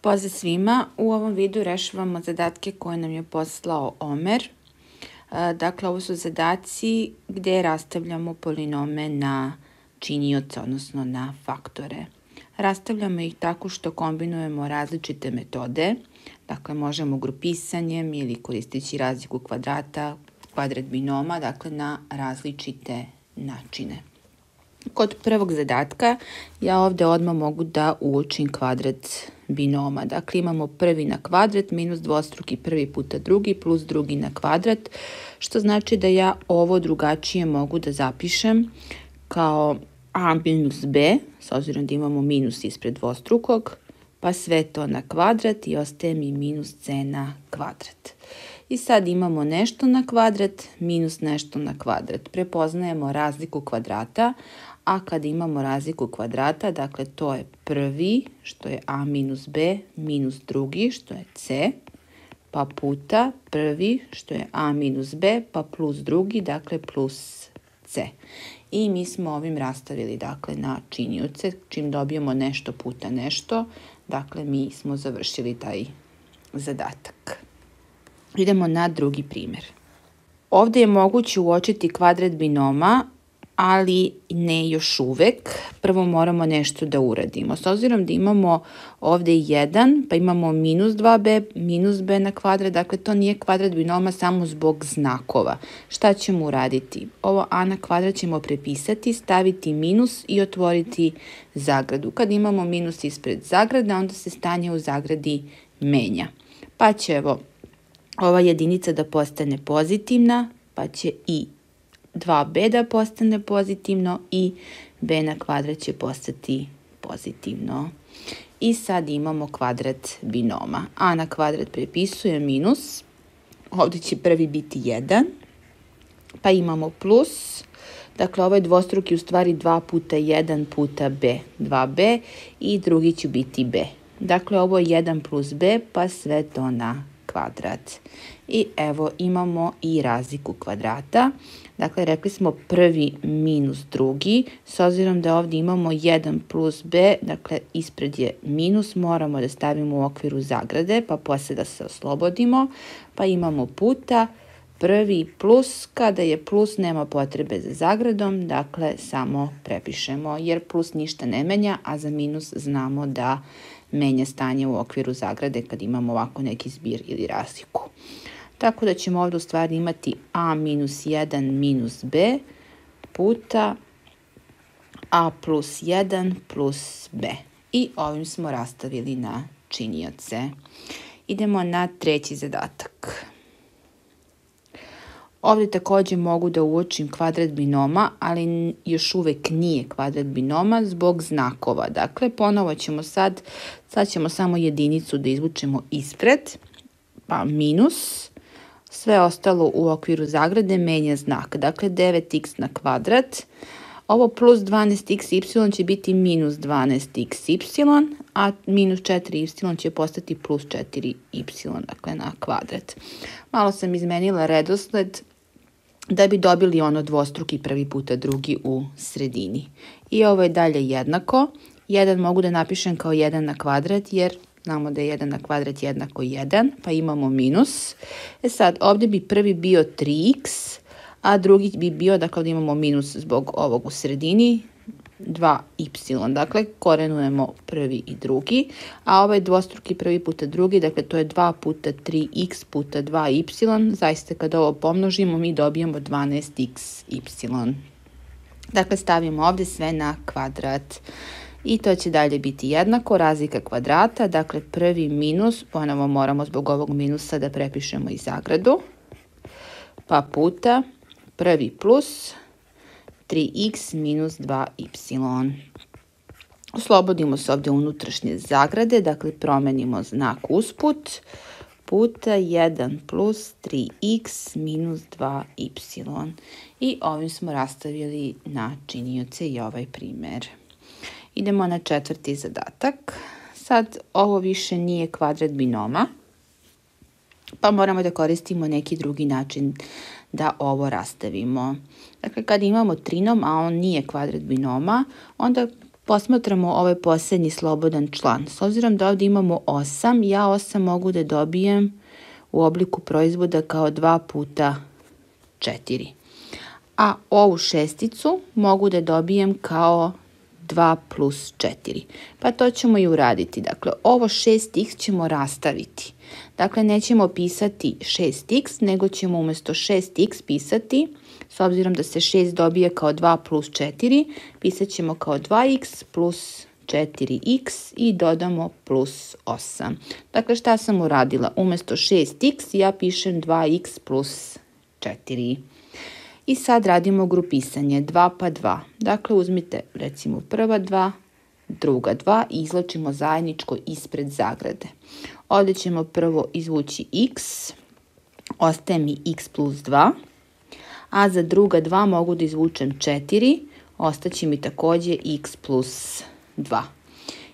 Pozdrav svima, u ovom videu rešavamo zadatke koje nam je poslao Omer. Dakle, ovo su zadaci gdje rastavljamo polinome na činioce, odnosno na faktore. Rastavljamo ih tako što kombinujemo različite metode. Dakle, možemo grupisanjem ili koristeći razliku kvadrata, kvadrat binoma, dakle na različite načine. Kod prvog zadatka ja ovdje odmah mogu da uočim kvadrat binoma. Dakle, imamo prvi na kvadrat minus dvostruki prvi puta drugi plus drugi na kvadrat, što znači da ja ovo drugačije mogu da zapišem kao a minus b, s obzirom da imamo minus ispred dvostrukog, pa sve to na kvadrat i ostaje mi minus c na kvadrat. I sad imamo nešto na kvadrat minus nešto na kvadrat. Prepoznajemo razliku kvadrata, a kad imamo razliku kvadrata, dakle to je prvi, što je a minus b, minus drugi, što je c, pa puta prvi, što je a minus b, pa plus drugi, dakle plus c. I mi smo ovim rastavili dakle na činioce, čim dobijemo nešto puta nešto, dakle mi smo završili taj zadatak. Idemo na drugi primjer. Ovdje je moguće uočiti kvadrat binoma, ali ne još uvek. Prvo moramo nešto da uradimo. S obzirom da imamo ovdje 1, pa imamo minus 2b, minus b na kvadrat, dakle to nije kvadrat binoma samo zbog znakova. Šta ćemo uraditi? Ovo a na kvadrat ćemo prepisati, staviti minus i otvoriti zagradu. Kad imamo minus ispred zagrade, onda se stanje u zagradi menja. Pa će evo ova jedinica da postane pozitivna, pa će i 2b da postane pozitivno i b na kvadrat će postati pozitivno. I sad imamo kvadrat binoma. A na kvadrat prepisuje minus, ovdje će prvi biti 1, pa imamo plus, dakle ovaj dvostruki u stvari 2 puta 1 puta b, 2b i drugi će biti b. Dakle ovo je 1 plus b pa sve to na kvadrat. I evo imamo i razliku kvadrata. Dakle, rekli smo prvi minus drugi. S obzirom da ovdje imamo 1 plus b, dakle ispred je minus, moramo da stavimo u okviru zagrade, pa poslije da se oslobodimo. Pa imamo puta prvi plus, kada je plus nema potrebe za zagradom, dakle samo prepišemo jer plus ništa ne menja, a za minus znamo da menja stanje u okviru zagrade kad imamo ovako neki zbir ili razliku. Tako da ćemo ovdje u stvari imati a minus 1 minus b puta a plus 1 plus b. I ovim smo rastavili na činioce. Idemo na treći zadatak. Ovdje također mogu da uočim kvadrat binoma, ali još uvijek nije kvadrat binoma zbog znakova. Dakle, ponovo ćemo sad ćemo samo jedinicu da izvučemo ispred, pa minus, sve ostalo u okviru zagrade menja znak. Dakle, 9x na kvadrat, ovo plus 12xy će biti minus 12xy, a minus 4y će postati plus 4y, dakle na kvadrat. Malo sam izmenila redosled da bi dobili ono dvostruki prvi puta drugi u sredini. I ovo je dalje jednako. 1 mogu da napišem kao 1 na kvadrat jer znamo da je 1 na kvadrat jednako 1, pa imamo minus. Sad ovdje bi prvi bio 3x, a drugi bi bio, dakle imamo minus zbog ovog u sredini, 2y, dakle korenujemo prvi i drugi, a ovaj dvostruki prvi puta drugi, dakle to je 2 puta 3x puta 2y, zaista kad ovo pomnožimo mi dobijemo 12xy. Dakle stavimo ovdje sve na kvadrat i to će dalje biti jednako, razlika kvadrata, dakle prvi minus, ponovo moramo zbog ovog minusa da prepišemo i zagradu, pa puta prvi plus 3x minus 2y. Oslobodimo se ovdje unutrašnje zagrade, dakle promenimo znak usput, puta 1 plus 3x minus 2y. I ovim smo rastavili na činioce i ovaj primjer. Idemo na četvrti zadatak. Sad ovo više nije kvadrat binoma, pa moramo da koristimo neki drugi način da ovo rastavimo. Dakle, kad imamo trinom, a on nije kvadrat binoma, onda Posmatramo ovaj posljednji slobodan član. S obzirom da ovdje imamo 8, ja 8 mogu da dobijem u obliku proizvoda kao 2 puta 4. A ovu šesticu mogu da dobijem kao 2 plus 4. Pa to ćemo i uraditi. Dakle, ovo 6x ćemo rastaviti. Dakle, nećemo pisati 6x, nego ćemo umjesto 6x pisati, s obzirom da se 6 dobije kao 2 plus 4, pisat ćemo kao 2x plus 4x i dodamo plus 8. Dakle, šta sam uradila? Umjesto 6x ja pišem 2x plus 4. I sad radimo grupisanje 2 pa 2. Dakle, uzmite recimo prva 2, druga 2 i izlačimo zajedničko ispred zagrade. Ovdje ćemo prvo izvući x, ostaje mi x plus 2, a za druga 2 mogu da izvučem 4, ostaće mi također x plus 2.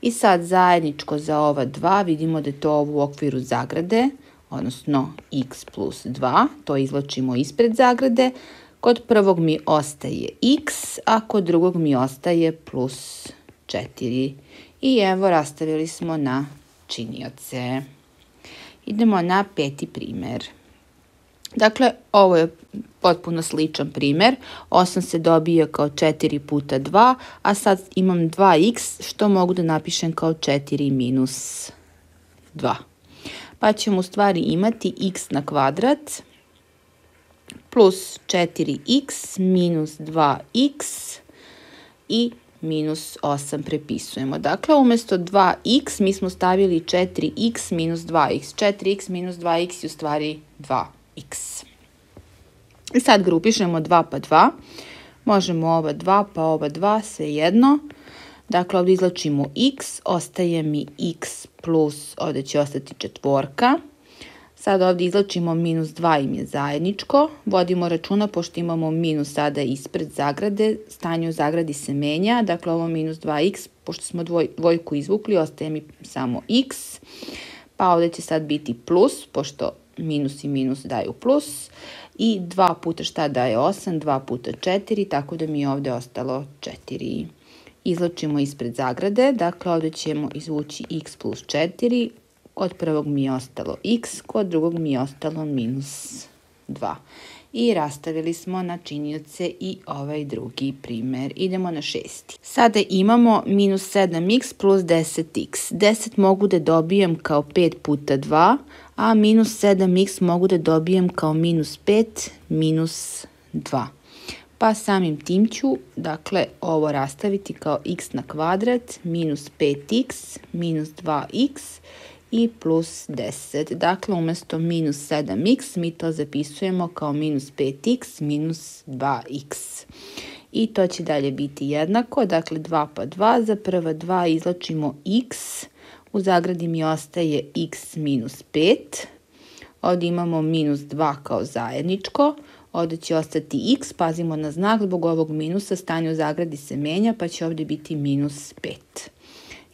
I sad zajedničko za ova 2 vidimo da je to u okviru zagrade, odnosno x plus 2, to izlačimo ispred zagrade. Kod prvog mi ostaje x, a kod drugog mi ostaje plus 4. I evo, rastavili smo na činioce. Idemo na 5. primjer. Dakle, ovo je potpuno sličan primjer. 8 se dobije kao 4 puta 2, a sad imam 2x, što mogu da napišem kao 4 minus 2. Pa ćemo u stvari imati x na kvadrat plus 4x minus 2x i minus 8 prepisujemo. Dakle, umjesto 2x mi smo stavili 4x minus 2x. 4x minus 2x je u stvari 2x. I sad grupišemo 2 pa 2. Možemo ova 2 pa ova 2, svejedno. Dakle, ovdje izlačimo x, ostaje mi x plus, ovdje će ostati četvorka. Sad ovdje izlačimo minus 2 im je zajedničko. Vodimo računa, pošto imamo minus sada ispred zagrade, stanje u zagradi se menja. Dakle, ovo minus 2x, pošto smo dvojku izvukli, ostaje mi samo x. Pa ovdje će sad biti plus, pošto minus i minus daju plus. I 2 puta šta daje 8? 2 puta 4, tako da mi je ovdje ostalo 4. Izlačimo ispred zagrade, dakle ovdje ćemo izvući x plus 4. Kod prvog mi je ostalo x, kod drugog mi je ostalo minus 2. I rastavili smo na činioce i ovaj drugi primjer. Idemo na 6. Sada imamo minus 7x plus 10x. 10 mogu da dobijem kao 5 puta 2, a minus 7x mogu da dobijem kao minus 5 minus 2. Pa samim tim ću, dakle, ovo rastaviti kao x na kvadrat minus 5x minus 2x i plus 10. Dakle, umjesto minus 7x mi to zapisujemo kao minus 5x minus 2x. I to će dalje biti jednako. Dakle, 2 pa 2. Za prva 2 izlačimo x. U zagradi mi ostaje x minus 5. Ovdje imamo minus 2 kao zajedničko. Ovdje će ostati x. Pazimo na znak. Zbog ovog minusa stanje u zagradi se menja, pa će ovdje biti minus 5.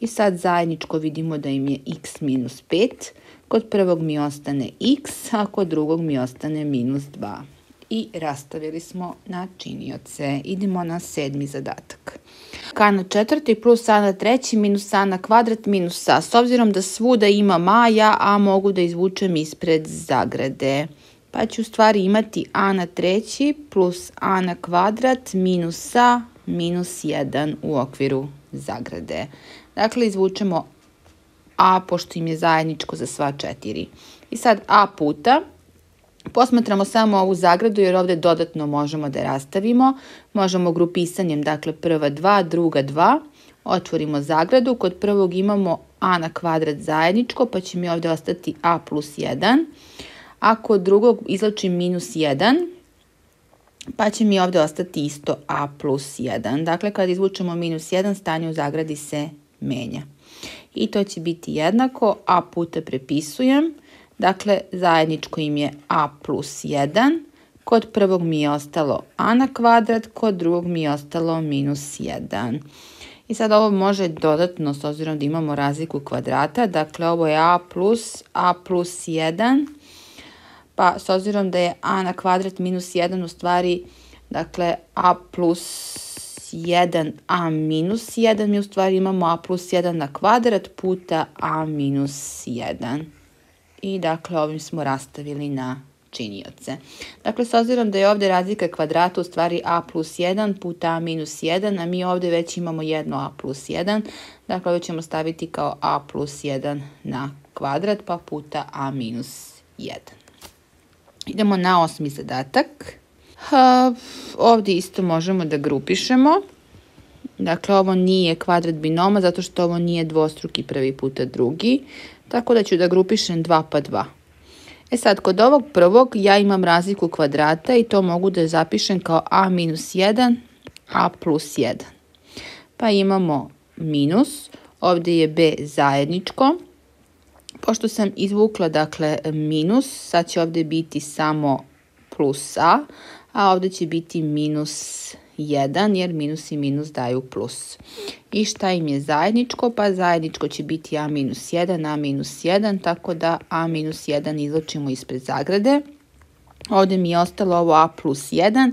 I sad zajedničko vidimo da im je x minus 5. Kod prvog mi ostane x, a kod drugog mi ostane minus 2. I rastavili smo na činioce. Idemo na 7. zadatak. K na 4. plus a na 3. minus a na kvadrat minus a. S obzirom da svuda ima ja a mogu da izvučem ispred zagrade. Pa ću u stvari imati a na 3. plus a na kvadrat minus a minus 1 u okviru zagrade. Dakle, izvučemo a pošto im je zajedničko za sva 4. I sad a puta, posmatramo samo ovu zagradu jer ovdje dodatno možemo da rastavimo. Možemo grupisanjem, dakle prva 2, druga 2, otvorimo zagradu. Kod prvog imamo a na kvadrat zajedničko, pa će mi ovdje ostati a plus 1. A kod drugog izlačim minus 1, pa će mi ovdje ostati isto a plus 1. Dakle, kad izvučemo minus 1, stanje u zagradi se menja. I to će biti jednako, a puta prepisujem. Dakle, zajedničko im je a plus 1. Kod prvog mi je ostalo a na kvadrat, kod drugog mi je ostalo minus 1. I sad ovo može dodatno, s obzirom da imamo razliku kvadrata. Dakle, ovo je a plus 1. Pa s obzirom da je a na kvadrat minus 1 u stvari, dakle, a plus 1a minus 1, mi u stvari imamo a plus 1 na kvadrat puta a minus 1. I dakle ovim smo rastavili na činioce. Dakle, s obzirom da je ovdje razlika kvadrata u stvari a plus 1 puta a minus 1, a mi ovdje već imamo jedno a plus 1, dakle ovdje ćemo staviti kao a plus 1 na kvadrat pa puta a minus 1. Idemo na 8. zadatak. Ovdje isto možemo da grupišemo. Dakle, ovo nije kvadrat binoma zato što ovo nije dvostruki prvi puta drugi, tako da ću da grupišem 2 pa 2. Sad, kod ovog prvog ja imam razliku kvadrata i to mogu da zapišem kao a minus 1, a plus 1. Pa imamo minus, ovdje je b zajedničko. Pošto sam izvukla, dakle, minus, sad će ovdje biti samo plus a ovdje će biti minus 1, jer minus i minus daju plus. I šta im je zajedničko? Pa zajedničko će biti a minus 1, a minus 1, tako da a minus 1 izločimo ispred zagrade. Ovdje mi je ostalo ovo a plus 1,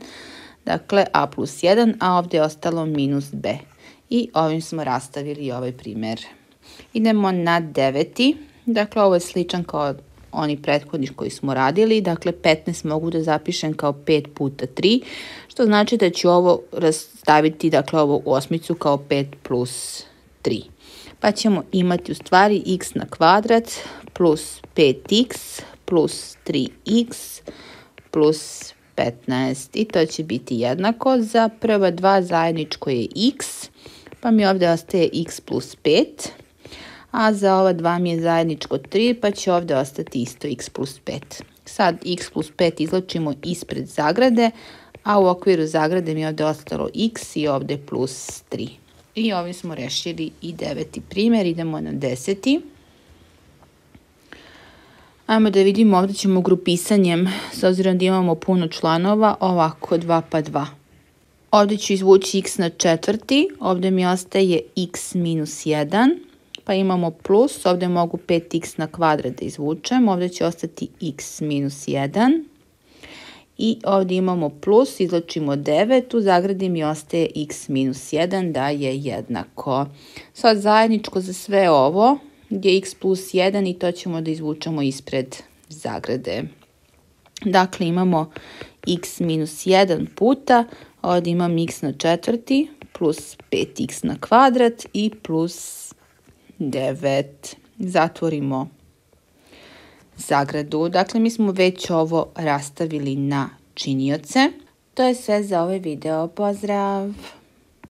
dakle a plus 1, a ovdje je ostalo minus b. I ovim smo rastavili ovaj primjer. Idemo na 9. Dakle, ovo je sličan kao oni prethodni koji smo radili. Dakle, 15 mogu da zapišem kao 5 puta 3, što znači da ću ovo rastaviti, dakle, ovu osmicu kao 5 plus 3. Pa ćemo imati u stvari x na kvadrat plus 5x plus 3x plus 15. I to će biti jednako. Za prva dva zajedničko je x, pa mi ovdje ostaje x plus 5. A za ova 2 mi je zajedničko 3, pa će ovdje ostati isto x plus 5. Sad x plus 5 izlačimo ispred zagrade, a u okviru zagrade mi je ovdje ostalo x i ovdje plus 3. I ovim smo rešili i 9. primjer. Idemo na 10. Ajmo da vidimo, ovdje ćemo grupisanjem, s obzirom da imamo puno članova, ovako 2 pa 2. Ovdje ću izvući x na četvrti, ovdje mi ostaje x minus 1. Pa imamo plus, ovdje mogu 5x na kvadrat da izvučem, ovdje će ostati x minus 1. I ovdje imamo plus, izlačimo 9, u zagradi mi ostaje x minus 1 da je jednako. Sad zajedničko za sve ovo je x plus 1 i to ćemo da izvučemo ispred zagrade. Dakle, imamo x minus 1 puta, ovdje imam x na četvrti plus 5x na kvadrat i plus 9. Zatvorimo zagradu. Dakle, mi smo već ovo rastavili na činioce. To je sve za ovaj video. Pozdrav!